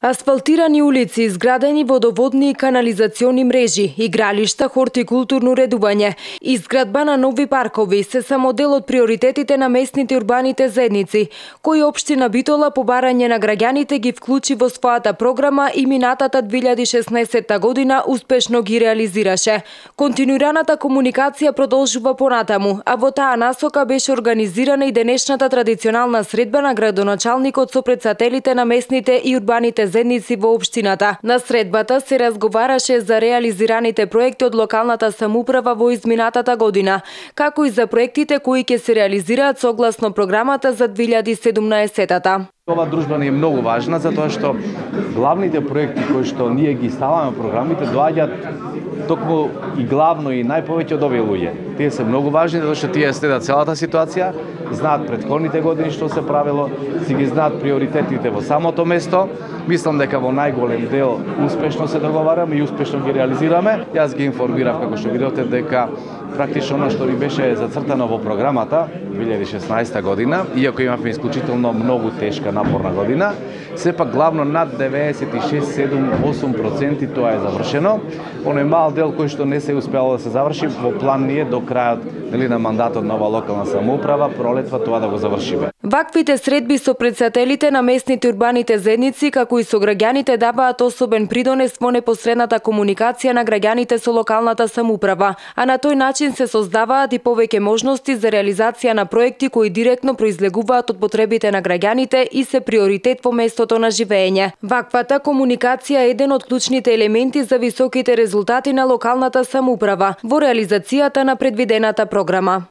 Асфалтирани улици, изградени водоводни и канализациони мрежи, игралишта, хортикултурно редување, изградба на нови паркови се само дел од приоритетите на местните урбаните заедници, кои општина Битола по барање на граѓаните ги вклучи во својата програма и минатата 2016 година успешно ги реализираше. Континуираната комуникација продолжува понатаму, а во таа насока беше организирана и денешната традиционална средба на градоначалникот со претседателите на местните и урбаните заедници во општината. На средбата се разговараше за реализираните проекти од локалната самоуправа во изминатата година, како и за проектите кои ќе се реализираат согласно програмата за 2017-та. Ова дружба ни е многу важна затоа што главните проекти кои што ние ги ставаме во програмите доаѓаат токму и главно и најповеќе од овие луѓе. Тие се многу важни затоа што тие следат целата ситуација, знаат претходните години што се правило, си ги знаат приоритетите во самото место. Мислам дека во најголем дел успешно се договараме и успешно ги реализираме. Јас ги информирав како што видовте дека практично она што ви беше зацртано во програмата 2016 година, иако имавме исклучително многу тешка напорна година, сепак главно над 96-7-8% тоа е завршено. Оној мал дел кој што не се успеало да се заврши, во план ни е до крајот на мандатот на ова локална самоуправа, пролетва тоа да го завршиме. Ваквите средби со претседателите на местните урбаните заедници, како и со граѓаните, даваат особен придонес во непосредната комуникација на граѓаните со локалната самоуправа, а на тој начин се создаваат и повеќе можности за реализација на проекти кои директно произлегуваат од потребите на граѓаните и се приоритет во местото на живење. Ваквата комуникација е еден од клучните елементи за високите резултати на локалната самоуправа во реализацијата на предвидената програма.